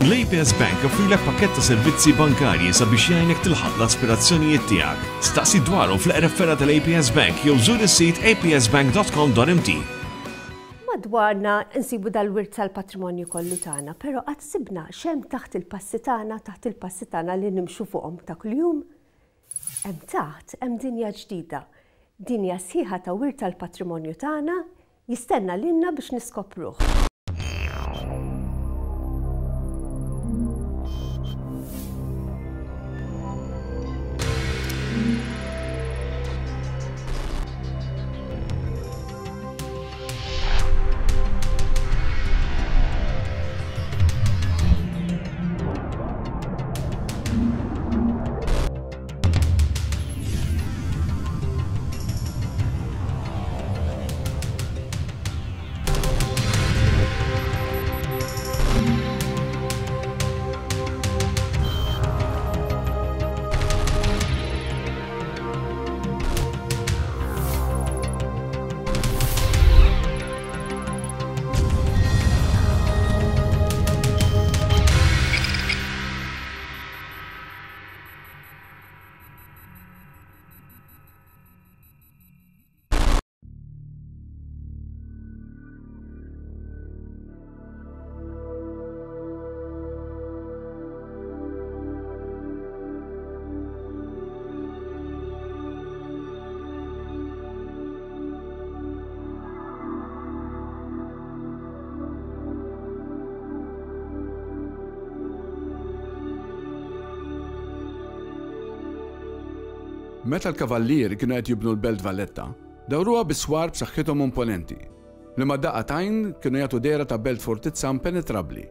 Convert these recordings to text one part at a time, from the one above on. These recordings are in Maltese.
L-APS Bank joffrilek pakkett ta' servizzi bankarji sabiex jgħinek tilħaq l-aspirazzjonijiet tiegħek. Staqsi dwarhom fl-eqreb fergħa tal-APS Bank jew żur is-sit apsbank.com.mt. Madwarna nsibu dal-wirt tal-patrimonju kollu tagħna, però qatt sibna x'hemm taħt il-passi tagħna, taħt il-passi tagħna li nimxu fuqhom ta' kuljum? Hemm taħt hemm dinja ġdida, dinja sħiħa ta' wirt tal-patrimonju tagħna Jistenna lilna biex niskopruh. Meta l-Kavallieri kienu qed jibnu l-Belt Valletta, dawruha bi swar b'saħħithom u imponenti, li ma' daqqa t'għajn kienu jagħtu dehra ta' belt fortizza impenetrabbli.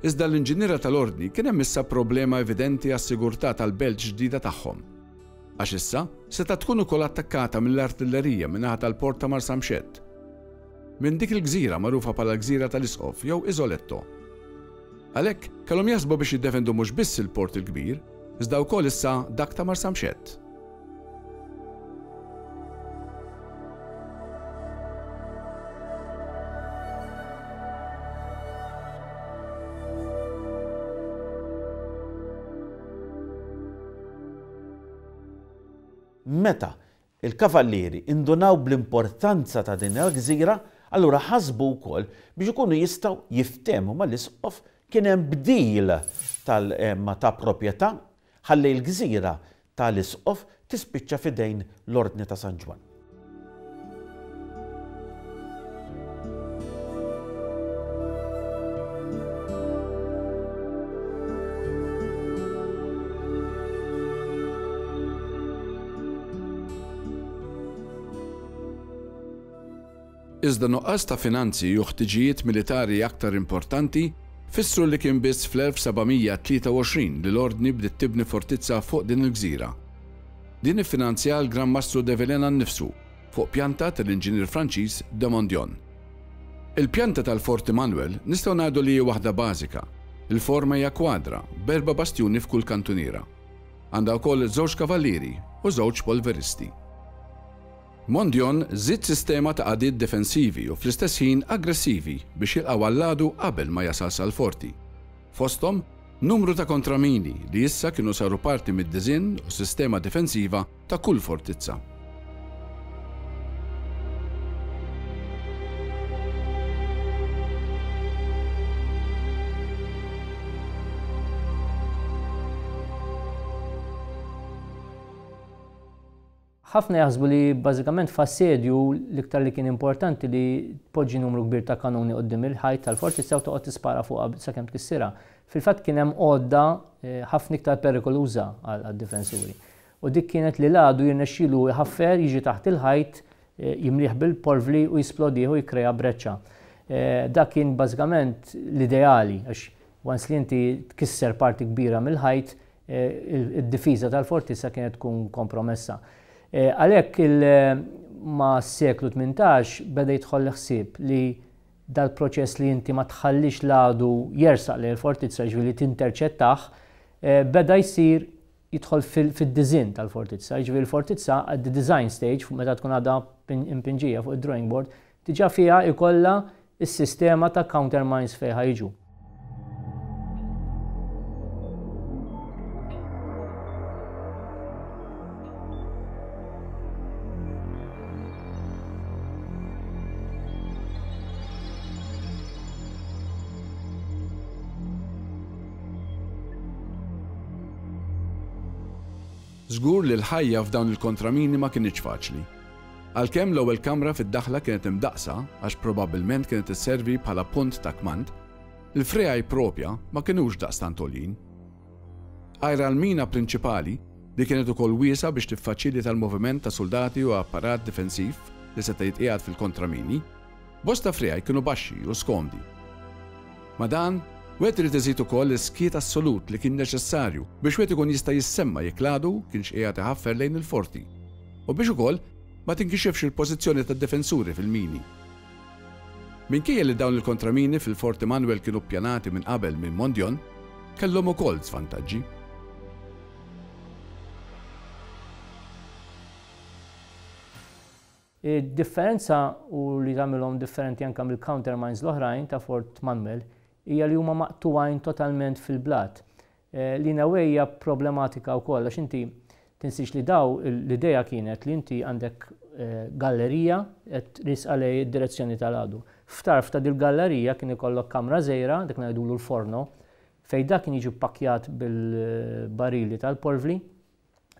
Iżda l-inġiniera tal-Ordni kien hemm issa problema evidenti għas-sigurtà tal-belt ġdida tagħhom. Għax issa setgħet tkun ukoll attakkata mill-artillerija min-naħa tal-port ta' Marsamxett. Minn dik il-gżira magħrufa bħala l-Gżira tal-Isqof jew Isoletto. Għalhekk, kellhom jaħsbu biex jiddefendu mhux biss il-Port il-Kbir, iżda wkoll issa dak ta' Marsamxett. Meta Il-Kavallieri indunaw bl-importanza ta' din il-gżira, allura ħasbu wkoll biex ikunu jistgħu jiftehmu mal-Isqof kien hemm bdil tal ta' proprjetà ħalli l-gżira ta' l-Isqof tispiċċa f'idejn l-Ordni ta' San Ġwann. Iżda nuqqas ta' finanzi u ħtiġijiet militari aktar importanti fissru li kien biss fl-1723 li l-Ordni bdiet tibni fortizza fuq din il-gżira. Din iffinanzjaha l-Gran Mastru de Villena nnifsu fuq pjanta tal-inġinier Franċiż de Mondion. Il-pjanta tal-Fort Immanuel nistgħu ngħidu li hi waħda bażika. Il-forma hija kwadra, b'erba' bastjuni f'kull kantuniera. Għandha wkoll żewġ kavallieri u żewġ polveristi. Mondion żied sistema ta' qagħdiet difensivi u fl-istess ħin aggressivi biex jilqgħu għall-għadu qabel ma jasal sal-forti. Fosthom, numru ta' kontramini li issa kienu saru parti mid-diżinn u s-sistema difensiva ta' kull fortizza. Ħafna jaħsbu li bażikament f'assedju l-iktar li kien importanti li tpoġġi numru kbir ta' kanuni quddiem il-ħajt tal-fortizza u toqgħod tispara fuqha sakemm tkissirha. Fil-fatt kien hemm għodda ħafna iktar perikoluża għad-difensuri. U dik kienet li l-għadu jirnexxilu jħaffer, jiġi taħt il-ħajt, jimlih bil-porvli u jisplodih u jikkrea breċċa. Dak kien bażikament l-ideali għax once li inti tkisser parti kbira mill-ħajt, id-difiża tal-fortizza kienet tkun kompromessa. Għalhekk mas-seklu 18 beda jidħol l-ħsieb li dal-proċess li inti ma tħallix l-għadu jersaq lejn il-fortizza, jiġifieri li tinterċettah, beda jsir jidħol fid-diżinn tal-fortizza. Jiġifieri l-fortizza at the design stage, meta tkun għadha impinġija fuq id-drawing board, diġà fiha jkollha s-sistema ta' countermines fejn ħa jiġu. Żgur li l-ħajja f'dawn il-kontramini ma kinitx faċli. Għalkemm l-ewwel kamra fid-daħla kienet imdaqqsa għax probabbilment kienet isservi bħala punt ta' kmand, il-friegħi propja ma kinux daqstant għoljin. Għajr għall-mina prinċipali, li kienet ukoll wiesgħa biex tiffaċilita l-moviment ta' suldati u apparat difensiv li seta' jitqiegħed fil-kontramini, bosta friegħi kienu baxxi u skomdi. Ma' dan, wieħed irid iżid ukoll is-skiet assolut li kien neċessarju biex wieħed ikun jista' jissemma' jekk l-għadu kienx qiegħed iħaffer lejn il-forti u biex ukoll ma tinkixifx il-pożizzjoni tad-difensuri fil-mini. Minkejja li dawn il-kontramini fil-Fort Immanuel kienu ppjanati minn qabel minn Mondion, kellhom ukoll żvantaġġi. Id-differenza u li tagħmilhom differenti anke mill-countermines l-oħrajn ta' Fort Manuel hija li huma maqtugħin totalment fil-blat. Li in a way hija problematika wkoll għax inti tinsiex li daw l-idea kienet li inti għandek gallerija qed riesqa lejn id-direzzjoni tal-għadu. F'tarf ta' dil-gallerija kien ikollok kamra żgħira, dik ngħidulu l-forno, fejn dak kien jiġi ppakkjat bil-barili tal-porvli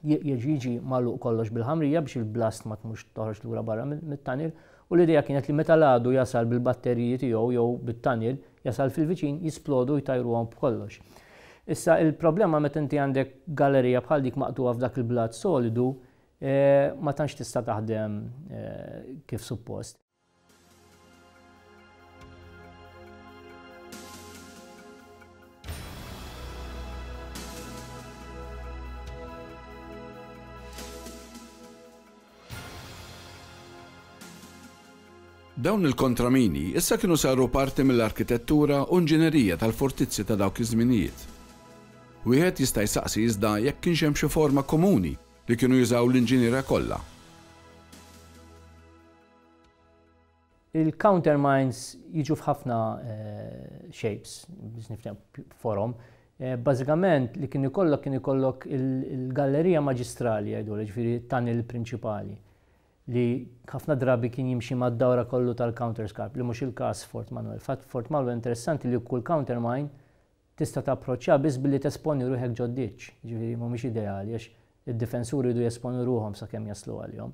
Jerġa' jiġi magħluq kollox bil-ħamrija biex il-blast ma tmurx toħroġ lura barra mit-tunnel u l-idea kienet li meta l-għadu jasal bil-batteriji tiegħu jew bit-tunnel jasal fil-viċin jisplodu jtajruhom b'kollox. Issa il-problema meta inti għandek gallerija bħal dik maqtugħa f'dak il-blat solidu ma tantx tista' taħdem kif suppost. Dawn il-kontramini issa kienu saru parti mill-arkitettura u inġinerija tal-fortizzi ta' dawk iż-żminijiet. Wieħed jista' jsaqsi iżda jekk kienx hemm xi forma komuni li kienu jużaw l-inġiniera kollha. Il-countermines jiġu f'ħafna shapes, biex nifhem forom. Bażikament li kien ikollok kien ikollok il-gallerija maġistrali jgħidulha, ġifieri t-tunnel prinċipali li ħafna drabi kien jimxi mad-dawra kollu tal-counterscarp li mhux il-każ f'Fort Manuel. Fatt f'Fort Manuel interessanti li kull countermine tista' tapproċċjaha biss billi tesponi ruħek ġod-ditch, jiġifieri mhumiex ideali għax id-difensuri jridu jesponu ruħhom sakemm jaslu għalihom.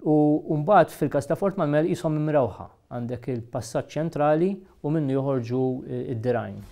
U mbagħad fil-każ ta' Fort Manuel qishom imrewħa. Għandek il-passaġġ ċentrali u minnu joħorġu d-dirgħajn.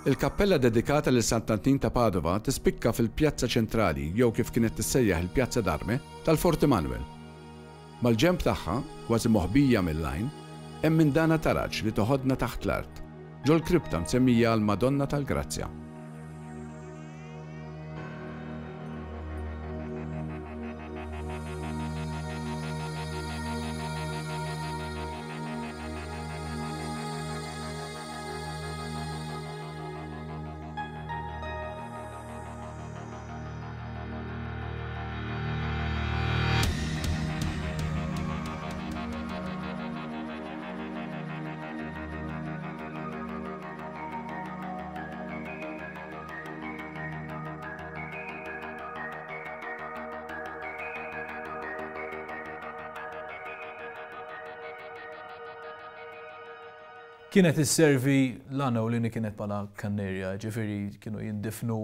Il-kappella dedikata lil Sant'Antin ta' Padova tispikka fil-pjazza ċentrali jew kif kienet tissejjaħ il-Pjazza d'Arme tal-Fort Immanuel. Mal-ġenb tagħha, kważi moħbija mill-għajn, hemm indana taraġ li toħodna taħt l-art, ġol-kripta msemmija għall-Madonna tal-Grazzja. Kienet isservi l-għana u l-ini kienet bħala kannerja, ġifieri kienu jindifnu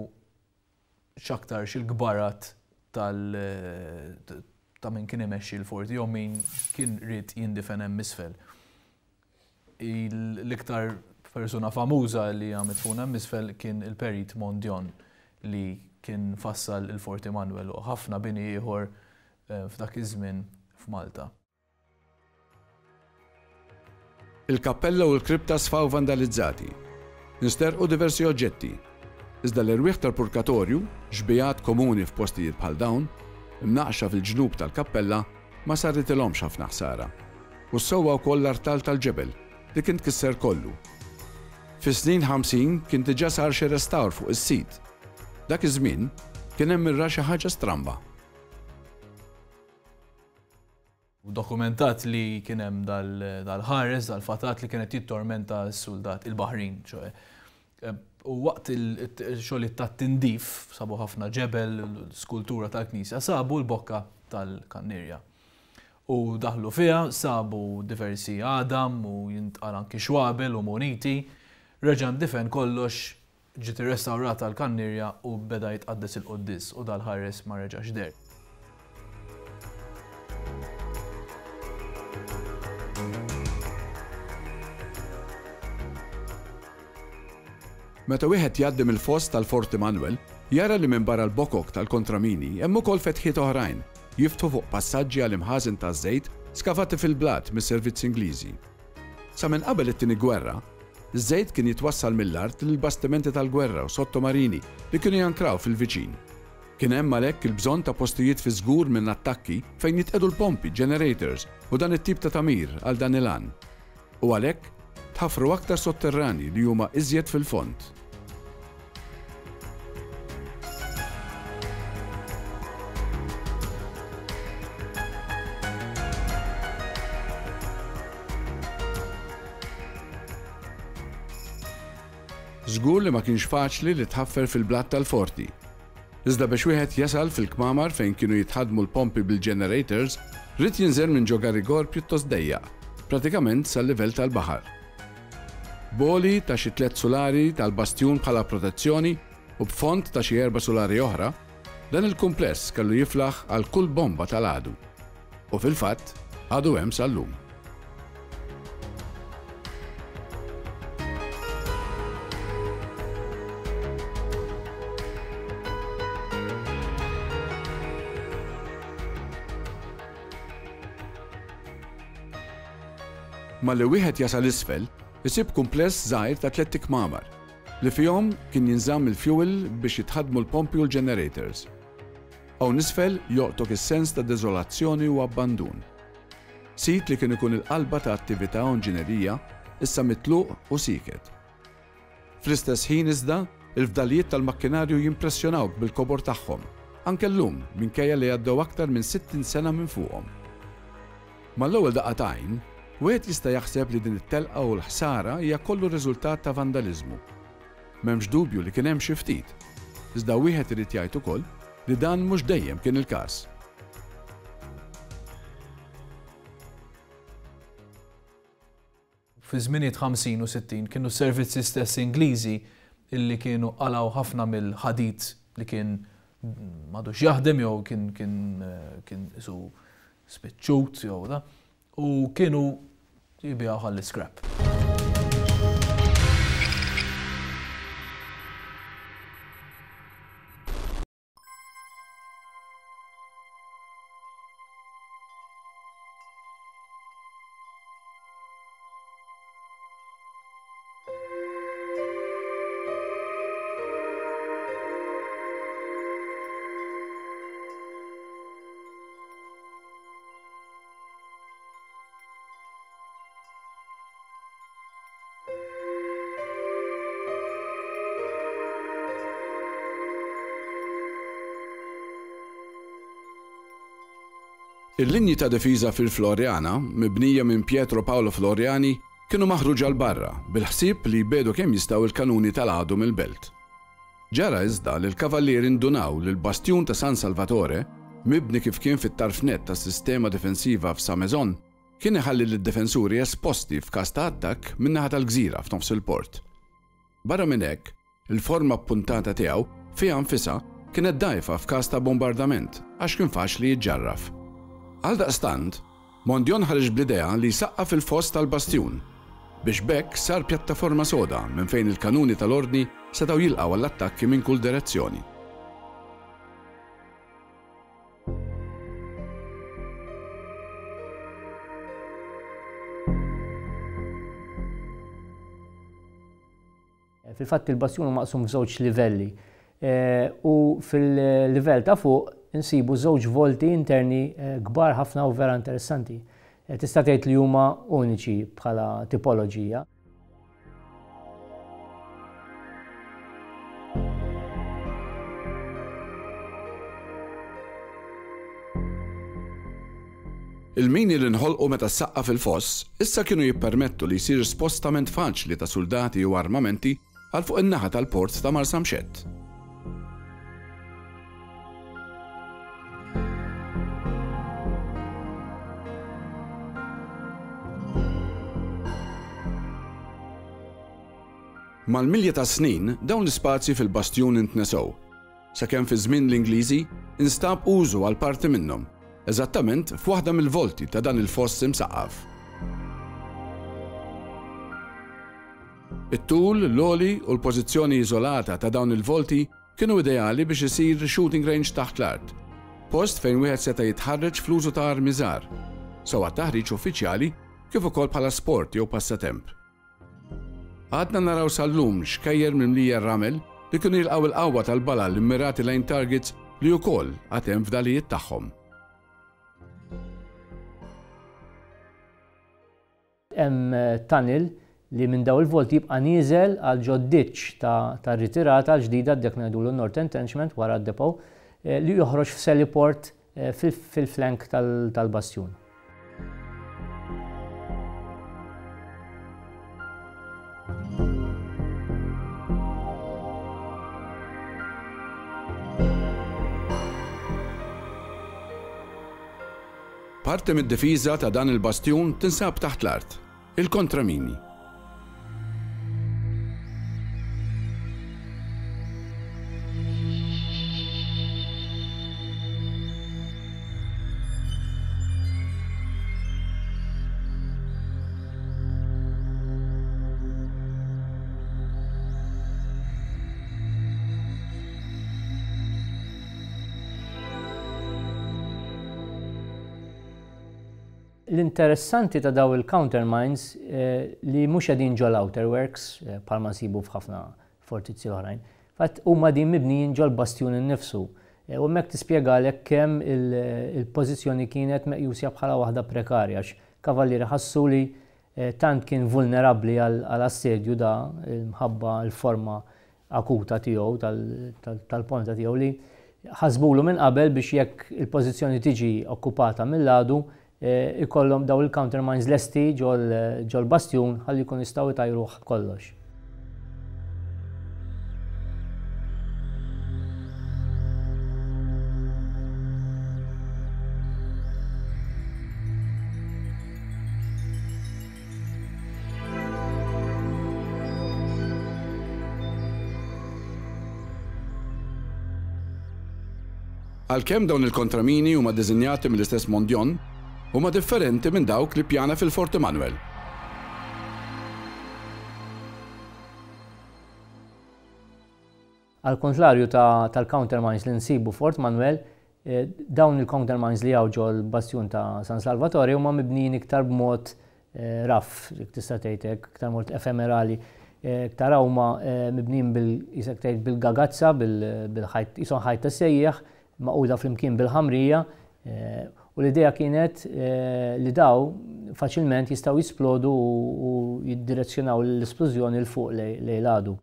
x'aktarx il-kbarat tal ta' min kien imexxi l-forti jew min kien ried jindifen hemm isfel. L-iktar persuna famuża li hija midfuna hemm isfel kien il-Perit Mondion li kien fassal il-Forti Manuel u ħafna bini ieħor. f'dak iż-żmien f'Malta. Il-kappella u l-kripta sfaw vandalizzati. Nsterqu diversi oġġetti. Iżda l-erwieħ tal-purkatorju, xbigħat komuni f'postijiet bħal dawn, imnaqqxa fil-ġnub tal-kappella, ma saritilhomx ħafna ħsara. U ssewwa wkoll l-artal tal-ġebel, li kien tkisser kollu. Fis-snin 50 kien diġà sar xi restawr fuq is-sit. Dak iż-żmien, kien hemm min ra xi ħaġa stramba. Dokumentat li kien hemm dal-ħares, dal-fatat li kien qed jittormenta s-suldat, il-baħrin, ċoe. U waqt il-xogħlijiet tat-tindif, sabu ħafna ġebel, skultura tal-knisja, sabu l-bokka tal-kannierja. U daħlu fiha, sabu diversi għadam u jintqal anki xwabel u muniti. Reġa' ndifen kollox Ġiet irrestawrata l-kannierja u beda jitqaddes il-quddies u dal-ħares ma reġax deher. Meta wieħed jgħaddi mill-foss tal-Forti Manuel, jara li minbarra l-bokok tal-kontramini hemm ukoll fetħiet oħrajn jiftħu fuq passaġġi għal imħażen taż-żejt skavati fil-blat mis-servizzi Ingliżi. Sa minn qabel it-Tieni Gwerra, Iż-żejt kien jitwassal mill-art lil bastimenti tal-gwerra u sottomarini li kienu jankraw fil-viċin. Kien hemm għalhekk il-bżonn ta' postijiet fiż-żgur minn attakki fejn jitqiegħdu l-pompi, generators u dan it-tip ta' tagħmir għal dan il-għan. U għalhekk, tħaffru aktar sotterranji li huma iżjed fil-fond. Żgur li ma kienx faċli li tħaffer fil-blat tal-forti. Iżda biex wieħed jasal fil-kmamar fejn kienu jitħaddmu l-pompi bil-generators, ried jinżel minn ġo garigor pjuttost dejjaq, pratikament sal-livell tal-baħar. B'għoli ta' xi tlett sulari tal-bastjun bħala protezzjoni u b'fond ta' xi erba' sulari oħra, dan il-kumpless kellu jiflaħ għal kull bomba tal-għadu. U fil-fatt, għadu hemm sal-lum. Malli wieħed jasal isfel, isib kumpless żgħir ta' tlett ikmamar, li fihom kien jinżamm il-fjuwil biex jitħaddmu l-pompi u l-ġenerators. Hawn isfel jolqtok is-sens ta' deżolazzjoni u abbandun. Sit li kien ikun il-qalba ta' attività u inġinerija, issa mitluq u sieket. Fl-istess ħin iżda, il-fdalijiet tal-makkinarju jimpressjonawk bil-kobor tagħhom, anke llum minkejja li għaddew aktar minn 60 sena minn fuqhom. Mal-ewwel daqqa t'għajn, wieħed jista' jaħseb li din it-telqa u l-ħsara hija kollu riżultat ta' vandaliżmu. M'hemmx dubju li kien hemm xi ftit. Iżda wieħed irid jgħid ukoll li dan mhux dejjem kien il-każ. Fi żminijiet 50 u 60 kienu s-servizzi stess Ingliżi illi kienu qalgħu ħafna mill-ħadid li kien m'għadux jaħdem jew kien kien kien qisu spiċċut jew da u kienu jbigħuh għall-iscrap. Il-linji ta' difiża fil-Floriana, mibnija minn Pietro Paolo Floriani, kienu maħruġa 'l barra bil-ħsieb li jbiegħdu kemm jistgħu l-kanuni tal-għadu mill-belt. Ġara iżda li l-Kavallieri ndunaw li l-bastjun ta' San Salvatore, mibni kif kien fit-tarf nett tas-sistema difensiva f'Sa Maison, kien iħalli lid-difensuri esposti f'każ ta' attakk min-naħa tal-gżira f'nofs il-port. Barra minn hekk, il-forma ppuntata tiegħu fiha nfisha kienet dgħajfa f'każ ta' bombardament għax kien faċli jiġġarraf. Għaldaqstant, Mondion ħareġ bl-idea li jsaqqaf il-foss tal-bastjun, biex b'hekk sar pjattaforma soda minn fejn il-kanuni tal-Ordni setgħu jilqgħu għall-attakki minn kull direzzjoni. Fil-fatt il-bastjun hu maqsum f'żewġ livelli u fil-livell ta' fuq insibu żewġ volti interni kbar ħafna u vera interessanti. Tista' tgħid li huma uniċi bħala tipoloġija. Il-mini li nħolqu meta ssaqqaf il-foss issa kienu jippermettu li jsir spostament faċli ta' suldati u armamenti għal fuq in-naħa tal-port ta' Marsamxett. Mal-milja tas-snin, dawn l-ispazji fil-bastjun intnesew, sakemm fi żmien l-Ingliżi instab użu għal parti minnhom, eżattament f'waħda mill-volti ta' dan il-foss imsaqqaf. It-tul, l-għoli u l-pożizzjoni iżolata ta' dawn il-volti kienu ideali biex isir shooting range taħt l-art, post fejn wieħed seta' jitħarreġ fl-użu ta' armi żgħar, sew għat-taħriġ uffiċjali kif ukoll bħala sport jew passatemp. Għadna naraw sal-lum xkejjer mimlija ramel li kienu jilqgħu l-qawwa tal-balal immirati lejn targets li wkoll għad hemm fdalijiet tagħhom. Hemm tunnel li minn daw il-volti jibqa' nieżel għal ġod-ditch tar-ritirata l-ġdida dak ngħidulu North Entrenchment wara d-depot li joħroġ f'Selliport fil-flank tal-bastjun. Parti mid-difiża ta' dan il-bastjun tinsab taħt l-art, il-kontramini. L-interessanti ta' daw il-countermines li mhux qegħdin ġol outer works bħalma nsibu f'ħafna fortizzi oħrajn. Fatt huma din mibnijin ġol bastjun innifsu. U hemmhekk tispjegalek kemm il-pożizzjoni kienet meqjusja bħala waħda prekarja għax kavallieri ħassu li tant kien vulnerabbli għal assedju da mħabba l-forma akuta tiegħu tal-ponta tiegħu li ħasbulu minn qabel biex jekk il-pożizzjoni tiġi okkupata mill-għadu ikollhom daw il-countermines lesti ġol-bastjun ħalli jkunu jistgħu jtajruh kollox. Għalkemm dawn il-kontramini huma ddisinjati mill-istess Mondion, huma differenti minn dawk li ppjana fil-Fort Immanuel. Għall-kuntrarju tal-countermines li nsibu f'Fort Manuel, dawn il-countermines li hawn ġol-Bastjun ta' San Salvatore huma mibnijin iktar b'mod rough, jekk tista' tgħid hekk, iktar mod efemerali. Tara huma mibnijin bil, jisek tgħid bil-gagazza, bil-ħajt, qishom ħajt ta' sejjieħ, magħquda flimkien bil-ħamrija, u l-idea kienet li daw faċilment jistgħu jisplodu u jiddirezzjonaw l-isplużjoni 'l fuq lejn l-għadu.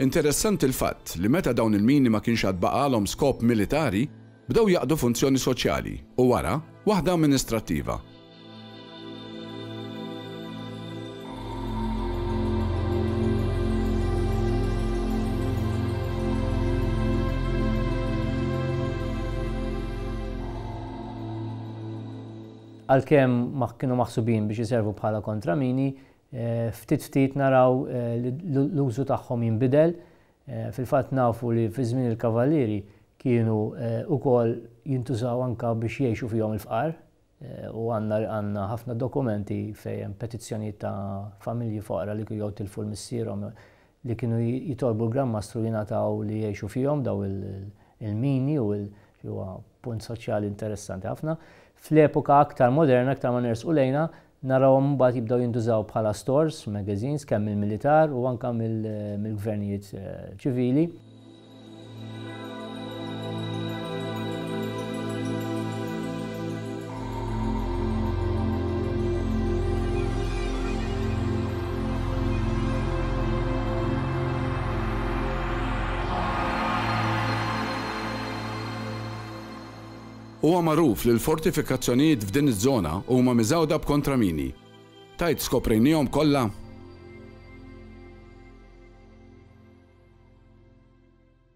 Interessanti l-fatt li meta dawn il-mini ma kienx għad baqgħalhom skop militari, Bdew jaqdu funzjoni soċjali u wara, waħda amministrattiva. Għalkemm ma kienu maħsubin biex iservu bħala kontramini, ftit ftit naraw li l-użu tagħhom jinbidel. Fil-fatt nafu li fi żmien il-Kavallieri. kienu ukoll jintużaw anke biex jgħixu fihom il-fqar u għandna għandna ħafna dokumenti fejn hemm petizzjonijiet ta' familji foqra li jew tilfu l-missierhom li kienu jitolbu l-Gran Mastru jingħataw li jgħixu fihom daw il-mini u li huwa punt soċjali interessanti ħafna. Fl-epoka aktar moderna, aktar ma nersqu lejna, narawhom mbagħad jibdew jintużaw bħala stores, magazines, kemm mill-militar u anke mill-gvernijiet ċivili. Huwa magħruf li l-fortifikazzjonijiet f'din iż-żona huma miżgħuda b'kontramini. Tgħid skoprejniehom kollha?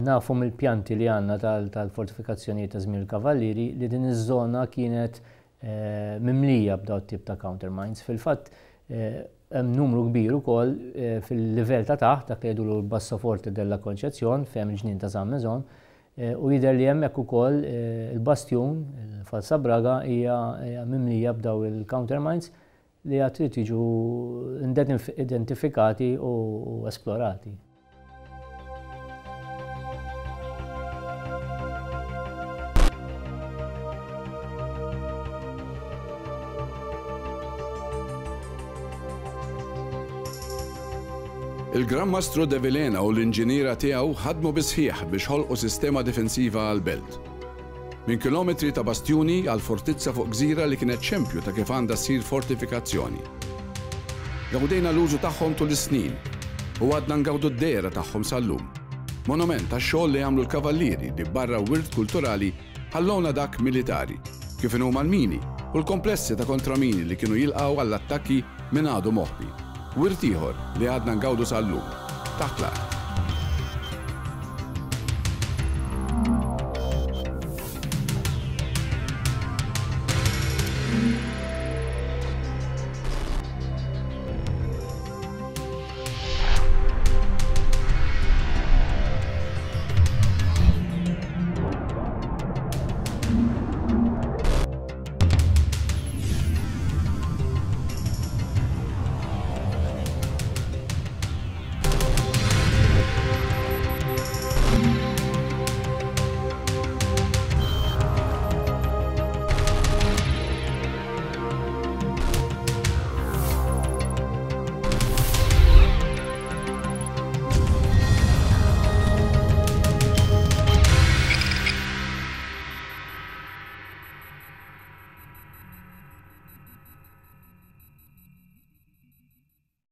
Nafu mill-pjanti li għandna tal-fortifikazzjonijiet ta' żmien il-Kavallieri li din iż-żona kienet mimlija b'dawn it-tip ta' countermines. Fil-fatt hemm numru kbir ukoll fil-livell ta' taħt, dak li jgħidulu l-Bassoforte della Concezion, fejn hemm il-ġnien ta' San Maison, u jidher li hemmhekk ukoll il-bastjun, il-Falsa Braga, hija mimlija b'dawn il-countermines li għad trid jiġu identifikati u esplorati. Il-Gran Mastru de Vilhena u l-inġiniera tiegħu ħadmu bis-sħiħ biex ħolqu sistema difensiva għall-belt. Minn kilometri ta' bastjuni għal fortizza fuq gżira li kienet xempju ta' kif għandha ssir fortifikazzjoni. Gawdejna l-użu tagħhom tul is-snin u għadna ngawdu d-dehra tagħhom sal-lum. Monument għax-xogħol li għamlu l-Kavallieri li barra wirt kulturali ħallewna dak militari, kif inhuma l-mini u l-komplessi ta' kontramini li kienu jilqgħu għall-attakki minn għadu moħbi. Wirt ieħor li għadna ngawdu sal-lum. Taħt l-art.